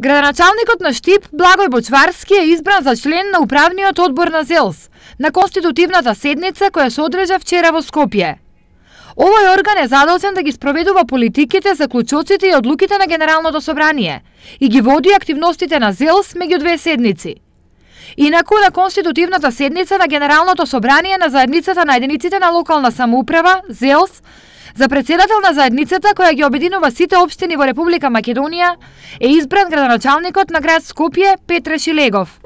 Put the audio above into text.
Градоначалникот на Штип, Благој Бочварски, е избран за член на управниот одбор на ЗЕЛС на конститутивната седница која се одржа вчера во Скопје. Овој орган е задолжен да ги спроведува политиките, заклучоците и одлуките на Генералното собрание и ги води активностите на ЗЕЛС меѓу две седници. Инаку на конститутивната седница на Генералното собрание на заедницата на единиците на локална самоуправа, ЗЕЛС, за председател на заедницата која ги обединува сите општини во Република Македонија е избран градоначалникот на град Скопје Петре Шилегов.